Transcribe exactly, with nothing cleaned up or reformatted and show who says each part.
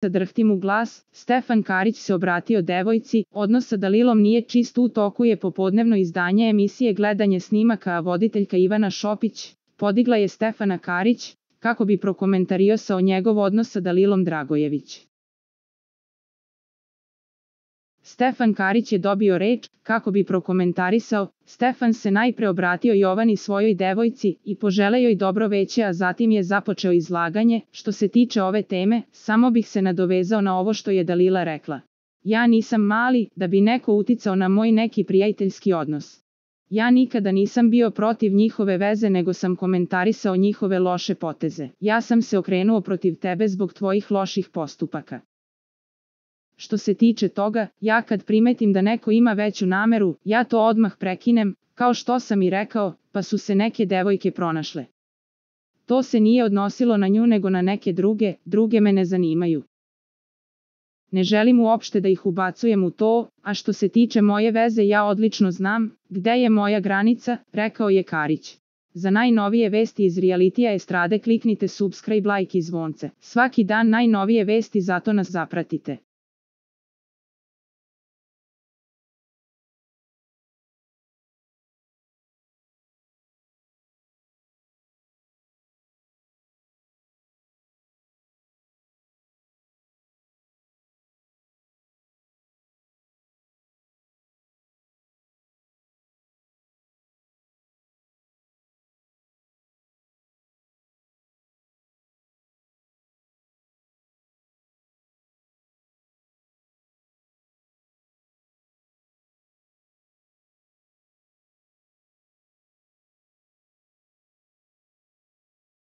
Speaker 1: drhtim u glas, Stefan Karić se obratio devojci, odnos sa Dalilom nije čist, u toku je popodnevno izdanje emisije Gledanje snimaka, a voditeljka Ivana Šopić podigla je Stefana Karić, kako bi prokomentarisao njegov odnos sa Dalilom Dragojević. Stefan Karić je dobio reč, kako bi prokomentarisao. Stefan se najpre obratio Jovani, svojoj devojci, i poželeo joj dobro veće, a zatim je započeo izlaganje. Što se tiče ove teme, samo bih se nadovezao na ovo što je Dalila rekla. Ja nisam mali, da bi neko uticao na moj neki prijateljski odnos. Ja nikada nisam bio protiv njihove veze, nego sam komentarisao njihove loše poteze. Ja sam se okrenuo protiv tebe zbog tvojih loših postupaka. Što se tiče toga, ja kad primetim da neko ima veću nameru, ja to odmah prekinem, kao što sam i rekao, pa su se neke devojke pronašle. To se nije odnosilo na nju nego na neke druge, druge me ne zanimaju. Ne želim uopšte da ih ubacujem u to, a što se tiče moje veze, ja odlično znam gde je moja granica, rekao je Karić. Za najnovije vesti iz realitija estrade kliknite subscribe, like i zvonce. Svaki dan najnovije vesti, zato nas zapratite.